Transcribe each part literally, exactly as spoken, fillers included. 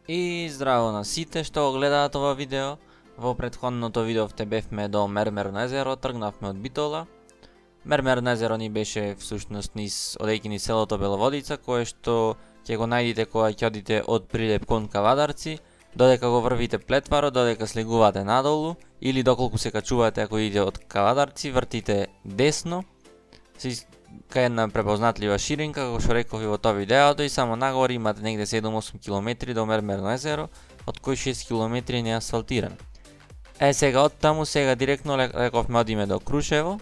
И здраво на сите што го гледаат ова видео. Во претходното видео те бевме до Мермерно езеро, тргнавме од Битола. Мермерно езеро ни беше всушност низ одејќи низ селото Беловодица, кое што ќе го најдите кога ќе одите од Прилеп кон Кавадарци, додека го врвите Плетваро, додека слегувате надолу, или доколку се качувате ако идете од Кавадарци, вртите десно, кај една препознатлива ширинка, како што реков и во тоа видеото, и само нагоре имате негде седум-осум километри до Мермерно езеро, од кои шест километри не асфалтиран. Е, сега од таму, сега директно рековме одиме до Крушево,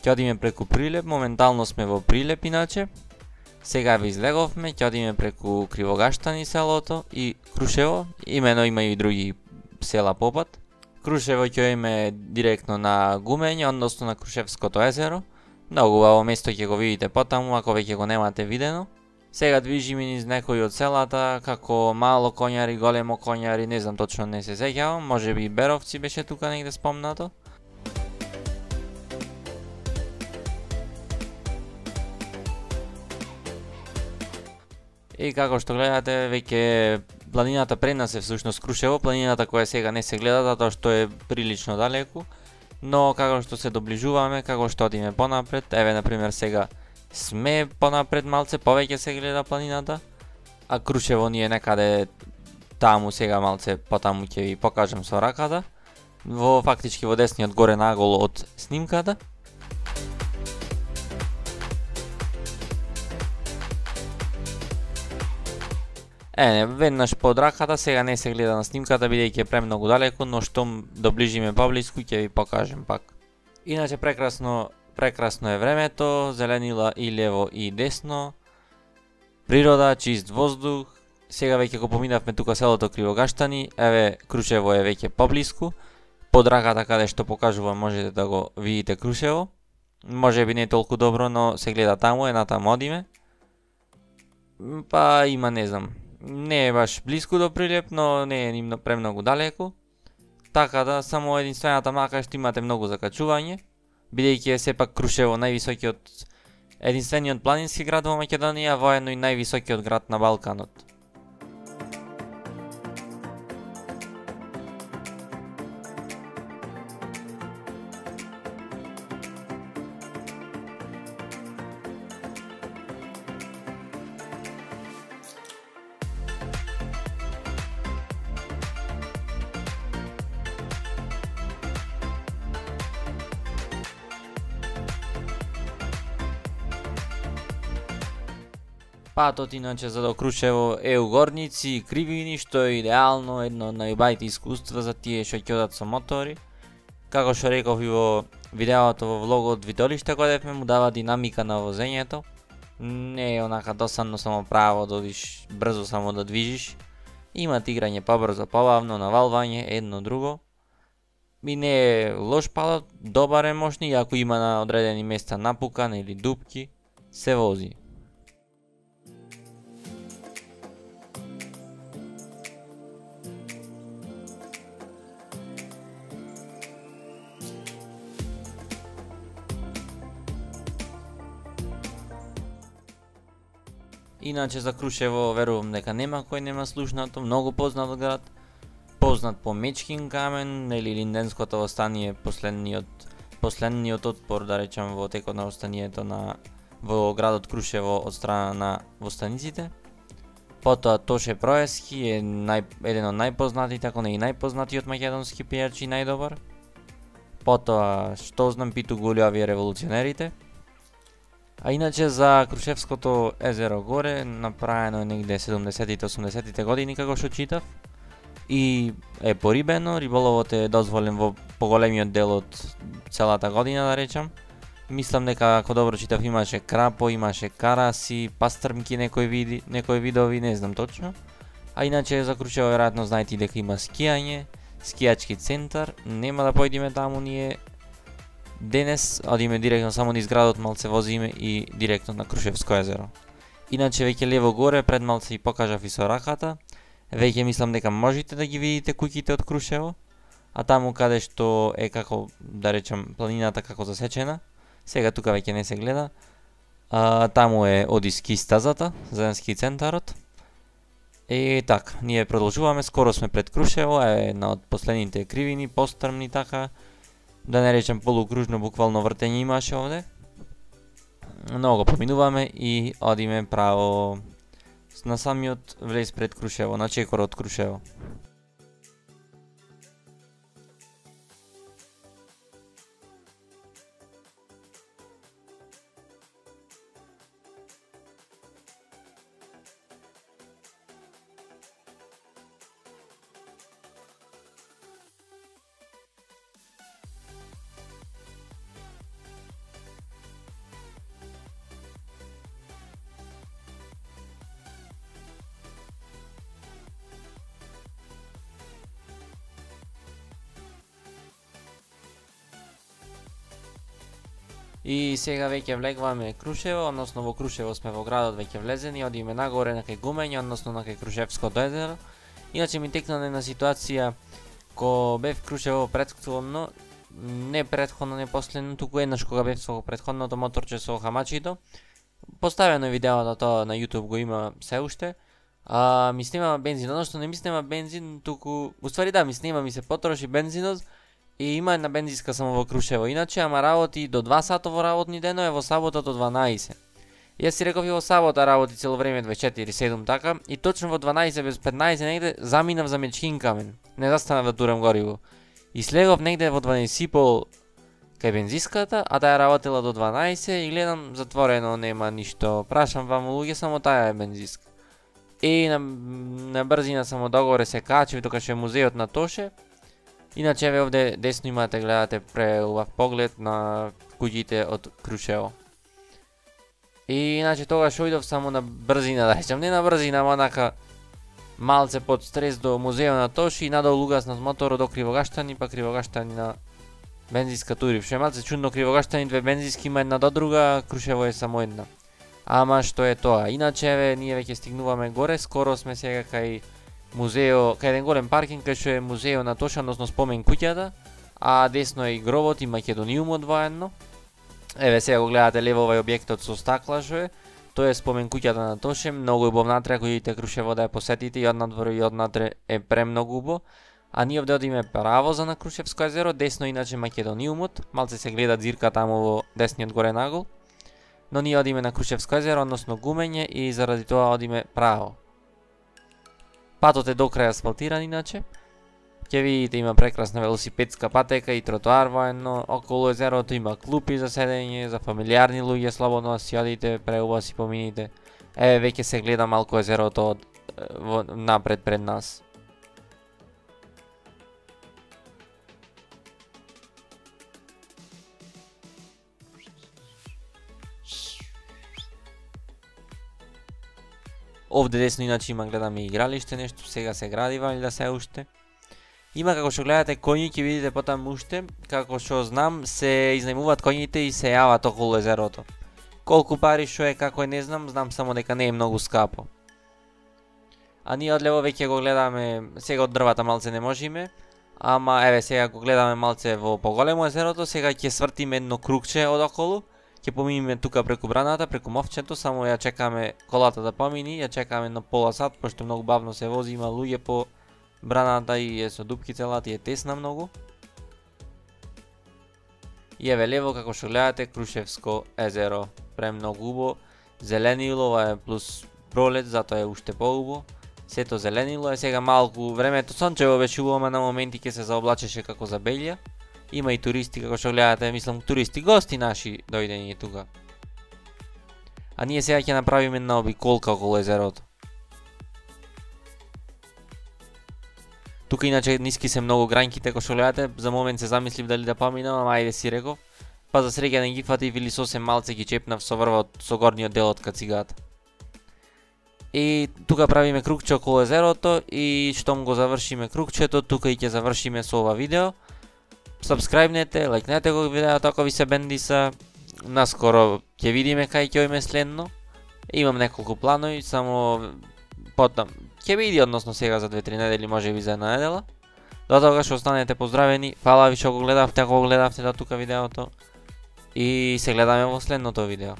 ќе одиме преку Прилеп, моментално сме во Прилеп иначе. Сега ви излеговме, ќе одиме преку Кривогаштани селото и Крушево, имено има и други села попат. Крушево ќе име директно на Гумење, односно на Крушевското езеро. Многу убаво место ќе го видите потаму, ако веќе го немате видено. Сега движиме низ некои од селата, како Мало Коњари, Големо Коњари, не знам точно, не се сеќавам, може би Беровци беше тука негде спомнато. И како што гледате, веќе планината пред нас е всушност Крушево, планината која сега не се гледа, затоа што е прилично далеку. Но како што се доближуваме, како што одиме понапред, еве например сега сме понапред малце, повеќе се гледа планината, а Крушево ни е некаде таму, сега малце потаму ќе ви покажам со раката, во фактички во десниот горе наголо од снимката. Е, веднаш под раката, сега не се гледа на снимката, бидејќи е премногу далеку, но штом доближиме поблиску ќе ви покажем пак. Иначе прекрасно, прекрасно е времето, зеленила и лево и десно, природа, чист воздух. Сега веќе го поминавме тука селото Кривогаштани, еве Крушево е веќе поблиску. Под раката каде што покажувам можете да го видите Крушево. Може би не е толку добро, но се гледа таму, е натаму одиме. Па има, не знам, не е баш блиску до Прилеп, но не е ни премногу далеку. Така да, само единствената мака што имате многу закачување, бидејќи е сепак Крушево највисокиот, единствениот планински град во Македонија, воедно и највисокиот град на Балканот. Патот иначе за до Крушево е у горници и кривини, што е идеално, едно од најубавите искуства за тие што ќе одат со мотори. Како што реков и во видеото во влогот Витолиште кога му дава динамика на возењето. Не е онака досадно само право да одиш, брзо само да движиш. Има играње побрзо, побавно, навалвање, едно друго. И не е лош патот, добар е можни, ако има на одредени места напукан или дупки, се вози. Иначе за Крушево верувам дека нема кој нема слушнато, многу познат град, познат по Мечкин камен или Линденското востание, последниот последниот отпор, да речам, во текот на востанието на во градот Крушево од страна на востаниците. Потоа Тоше Проески е нај, еден од најпознатите, ако не и најпознатиот македонски пејач и најдобар. Потоа, што знам, Питу Гулјави револуционерите. А иначе за Крушевското езеро горе направено е негде седумдесетите осумдесетите години како што читав. И е порибено, риболовот е дозволен во поголемиот дел од целата година, да речам. Мислам дека ако добро читав имаше крапо, имаше караси, пастрмки, некои види, некои видови, не знам точно. А иначе за Крушево веројатно знаете дека има скијање, скијачки центар, нема да појдиме таму ние. Денес одиме директно само низ градот, малце возиме и директно на Крушевско езеро. Иначе веќе лево горе, пред малце и покажав и со раката. Веќе мислам дека можете да ги видите куќите од Крушево, а таму каде што е како, да речам, планината како засечена, сега тука веќе не се гледа, а, таму е оди ски стазата, за ски центарот. И така, ние продолжуваме, скоро сме пред Крушево, е една од последните кривини, пострмни така, да не речем полукружно, буквално вртење имаше овде. Много поминуваме и одиме право на самиот влез пред Крушево, на чекор од Крушево. И сега веќе влегваме Крушево, односно во Крушево сме во градот веќе влезени, одиме нагоре на кај Гумење, односно на кај Крушевското езеро. Иначе ми текна една ситуација ко бев Крушево претходно, не претходно, не последно, туку еднаш кога бев со претходното моторче со хамачито. Поставено е видеото тоа на YouTube, го има се уште. А ми снема бензин, односно не ми снема бензин, туку уствари да ми снема, ми се потроши бензинот. И има една бензиска само во Крушево, иначе ама работи до два сата во работни денови, во сабота до дванаесет. Јас си реков и во сабота работи цело време дваесет и четири седум така, и точно во дванаесет без петнаесет негде заминав за Мечкин камен. Не застанав да турам гориво. И слегов негде во дванаесет и пол кај бензиската, а таа работела до дванаесет и гледам затворено, нема ништо. Прашам вам луѓе, само таа е бензиска. И на, на брзина само догоре се качив, тука што е музеот на Тоше. Иначе ве овде десно имате, гледате преубав поглед на куќите од Крушево. И иначе тогаш ојдов само на брзина, да речем, не на брзина, ама онака малце под стрес до музеот на Тоши и надолу угаснат моторот до Кривогаштани, па Кривогаштани на бензиска турив. Што е малце чудно, Кривогаштани две бензиски има една до друга, Крушево е само една. Ама што е тоа? Иначе ве ние веќе стигнуваме горе, скоро сме сега кај музео, кај еден голем паркинг кај што е музео на Тоша, односно спомен куќата, а десно е и гробот и Македониумот воедно. Еве сега го гледате лево овај објектот со стакла што е, тоа е спомен куќата на Тоше, многу убав натре, ако идете Крушево да ја посетите, и однадвор и однатре е премногу убав. А ние овде одиме право за на Крушевско езеро, десно иначе Македониумот, малце се гледа ѕирка таму во десниот горе нагол. Но ние одиме на Крушевско езеро, односно Гумење, и заради тоа одиме право. Патот е до крај асфалтиран иначе. Ќе видите има прекрасна велосипедска патека и тротоар воедно. Околу езерото има клупи за седење, за фамилиарни луѓе, слободно си одите, преубаво си помините. Еве веќе се гледа малку езерото од во, напред пред нас. Овде десно иначе има, гледаме игралиште, нешто сега се гради вали да се уште. Има, како што гледате коњи, ќе видите потаму уште, како што знам се изнајмуваат коњите и се јават околу езерото. Колку пари што е, како е, не знам, знам само дека не е многу скапо. А ние одлево веќе го гледаме, сега од дрвата малце не можеме, ама еве сега го гледаме малце во поголемо езерото, сега ќе свртиме едно кругче одоколу. Ќе поминиме тука преку браната, преку мовчето, само ја чекаме колата да помини, ја чекаме на пола сат, пошто многу бавно се вози, има луѓе по браната и е со дупки целата и е тесна многу. И еве лево, како што гледате, Крушевско езеро, премногу убаво, зеленило, ова е плюс пролет, затоа е уште поубаво. Сето зеленило е, сега малку времето сончево беше убаво, ама на моменти ќе се заоблачеше како за белја. Има и туристи, како што гледате, мислам туристи, гости наши дојдени тука. А ние сега ќе направиме една обиколка околу езерото. Тука иначе ниски се многу грањките, како што гледате, за момент се замислив дали да поминам, ама ајде си реков. Па за среќа не ги фатив или сосем малце ги чепнав со врвот, со горниот дел од кацигата. И тука правиме кругче околу езерото и штом го завршиме кругчето, тука и ќе завршиме со ова видео. Сабскрајбнете, лајкнете го видеото ако ви се бендиса. Наскоро ќе видиме кај ќе оиме следно. Имам неколку планови, само потом ќе види, односно сега за две-три недели, може би за една недела. До тогаш останете поздравени. Фала ви што го гледавте, ако го гледавте до тука видеото. И се гледаме во следното видео.